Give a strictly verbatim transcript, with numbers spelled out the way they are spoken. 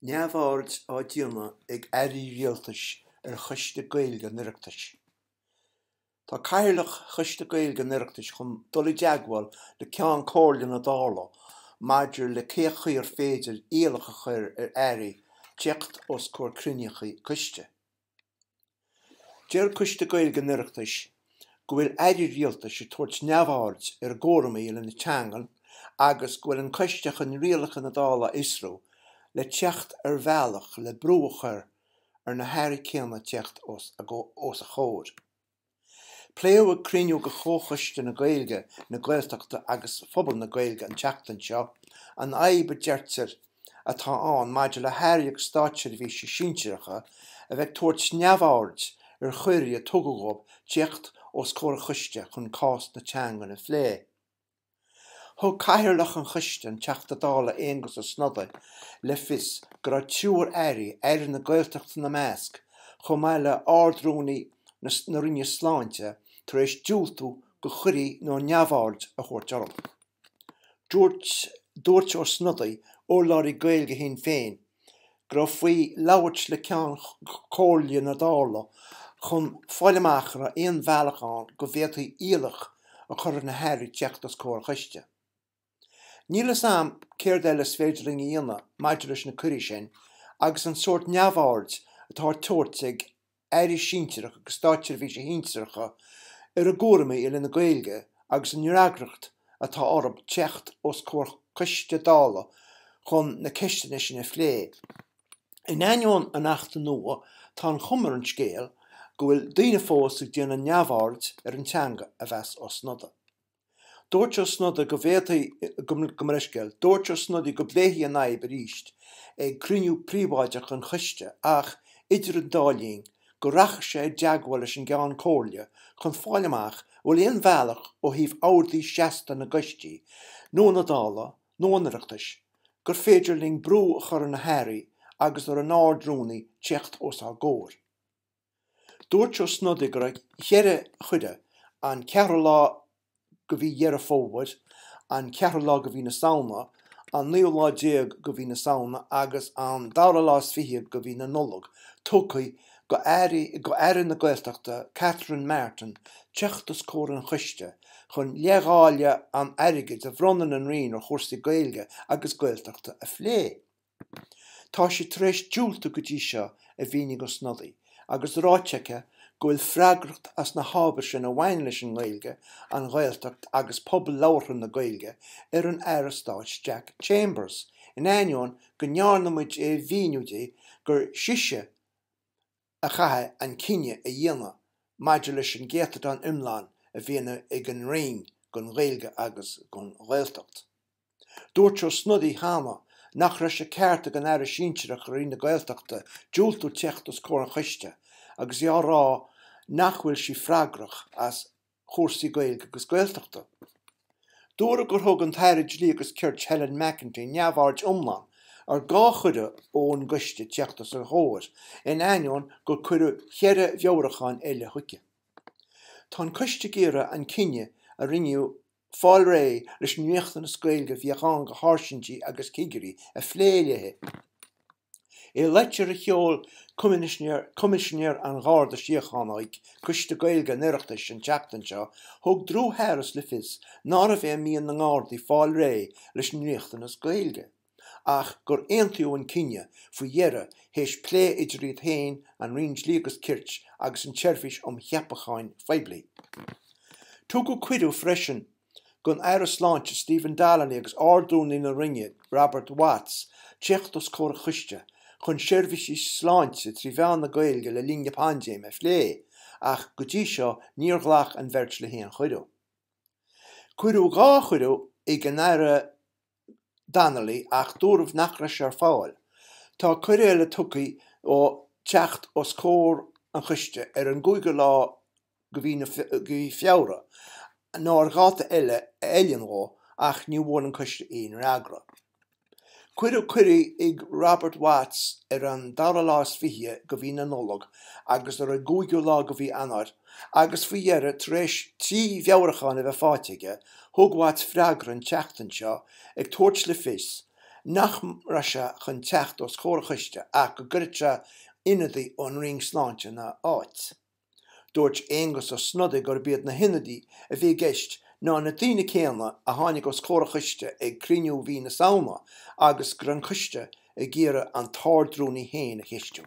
Neamhaird á déanamh ag airí rialtais ar Choiste Gaeilge an Oireachtais. Tá Cathaoirleach Choiste Gaeilge an Oireachtais chun dul i dteagmháil le Ceann Comhairle na Dála maidir le cén chaoi ar féidir iallach a chur ar airí teacht os comhair cruinnithe coiste. Deir Coiste Gaeilge an Oireachtais go bhfuil airí rialtais ag tabhairt neamhaird ar a gcúraimí lena teangain agus go bhfuil an coiste chun rialacha na Dála a fhiosrú le teacht ar bhealach le brú a chur ar na hairí céanna teacht os a chomhair. Pléadh ag cruinniú de Chomhchoiste na Gaeilge, na Gaeltachta agus Phobal na Gaeilge an tseachtain seo an fhadhb a deirtear atá ann maidir le hairí agus státseirbhísigh sinsearacha a bheith ag tabhairt neamhaird ar chuirí a tugadh dóibh teacht os comhair an choiste chun cás na teangan a phlé. Thug Cathaoirleach an Choiste, an Teachta Dála Aengus Ó Snodaigh, le fios go raibh triúr airí, Aire na Gaeltachta ina measc, chomh maith le Ard-Rúnaí na Roinne Sláinte, tar éis diúltú do chuirí nó neamhaird a thabhairt orthu. Dúirt Dúirt Ó Snodaigh, urlabhraí Gaeilge Shinn Féin, go raibh faoi labhairt le Ceann Comhairle na Dála chun fáil amach an raibh aon bhealach ann go bhféadfaí iallach a chur ar na hairí teacht os comhair an choiste. Níl a fhios agam céard eile is féidir linn a dhéanamh maidir leis na cuirí sin agus an sórt neamhaird atá á tabhairt ag airí sinsearacha agus státseirbhísigh shinsearacha ar a gcúraimí i leith na Gaeilge agus an fhreagracht atá orthu teacht os comhair coiste Dála chun na ceisteanna sin a phlé. In ainneoin an Achta nua, tá an chuma ar an scéal go bhfuil daoine fós ag déanamh neamhaird ar an teanga, a mheas Ó Snodaigh. Dúirt Ó Snodaigh go bhféadfaí, gabh mo leithscéal, dúirt Ó Snodaigh go bpléifí an fhadhb arís ag cruinniú príobháideach an choiste ach, idir an dá linn, go rachadh sé i dteagmháil leis an gCeann Comhairle chun fáil amach an bhfuil aon bhealach ó thaobh orduí seasta na gcoistí nó na Dála nó an Oireachtais gur féidir linn brú a chur ar na hairí agus ar an Ard-Rúnaí teacht os ár gcomhair. Dúirt Ó Snodaigh go raibh ceithre chuireadh, an ceathrú lá de mhí Dheireadh Fómhair, an ceathrú lá de mhí na Samhna, an naoú lá déag de mhí na Samhna agus an dara lá is fiche de mhí na Nollag, tugtha do Aire na Gaeltachta Catherine Martin teacht os comhair an choiste chun leithdháileadh an airgid a bhronnann an Roinn ar chúrsaí Gaeilge agus Gaeltachta a phlé. Tá sí tar éis diúltú go dtí seo, a mhínigh Ó Snodaigh, agus ráite aici go bhfuil freagracht as na hábhair sin a bhaineann leis an nGaeilge, an Ghaeltacht agus pobal labhartha na Gaeilge ar an Aire Stáit Jack Chambers, in ainneoin go ndearna muid é a mhíniú di gur sise a chaithfidh an cinneadh a dhéanamh maidir leis an gcéatadán iomlán a bhíonn ag an Roinn don Ghaeilge agus don Ghaeltacht. Dúirt Ó Snodaigh cheana nach raibh sé ceart ag an Aire Sinsearach i Roinn na Gaeltachta diúltú teacht os comhair an choiste agus í á rá nach bhfuil sí freagrach as chúrsaí Gaeilge agus Gaeltachta. Dúradh gur thug an tAire Dlí agus Cirt Helen McEntee neamhaird iomlán ar dhá chuireadh ón gcoiste teacht os a chomhair, in ainneoin gur cuireadh ceithre mheabhrúchán eile chuici. Tá an coiste ag iarraidh an cinneadh a rinneadh fáil réidh leis an riachtanas Gaeilge a bheadh ann do sháirsintí agus cigirí a phlé léi. I litir a sheol Coimisinéir an Gharda Síochána chuig Coiste Gaeilge an Oireachtais an tseachtain seo, thug Drew Harris le fios nárbh é mian na nGardaí fáil réidh leis an riachtanas Gaeilge, ach gur aontaíodh an cinneadh faoi dheireadh théis plé idir iad féin, an Roinn Dlí agus Cirt agus an tSeirbhís um Cheapacháin Phoiblí. Tugadh cuireadh freisin don Aire Sláinte Stephen Donnelly agus Ard-Rúnaí na Roinne Robert Watts teacht os comhair an choiste chun seirbhísí sláinte trí mheán na Gaeilge le linn na paindéime a phlé, ach go dtí seo níor ghlac an bheirt le haon chuireadh. Cuireadh dhá chuireadh chuig an Aire Donnelly ach dúradh nach raibh sé ar fáil. Tá cuireadh eile tugtha dó teacht os comhair an choiste ar an gcúigiú lá de mhí Feabhra nó ar dháta eile a fheileann dó ach ní bhfuair an coiste aon fhreagra. Cuireadh cuirí chuig Robert Watts ar an dara lá is fiche de mhí na Nollag agus ar an gcúigiú lá de mhí Eanáir agus faoi dheireadh tar éis trí mheabhrúchán a bheith faighte aige, thug Watts freagra an tseachtain seo ag tabhairt le fios nach raibh sé chun teacht os comhair an choiste ach go gcuirfeadh sé ionadaí ón Roinn Sláinte ina áit. Dúirt Aengus Ó Snodaigh gurb iad na hionadaithe a bhí i gceist ná na daoine céanna a tháinig os comhair an choiste ag cruinniú mhí na Samhna agus go raibh an coiste ag iarraidh an tArdrúnaí féin a cheistiú.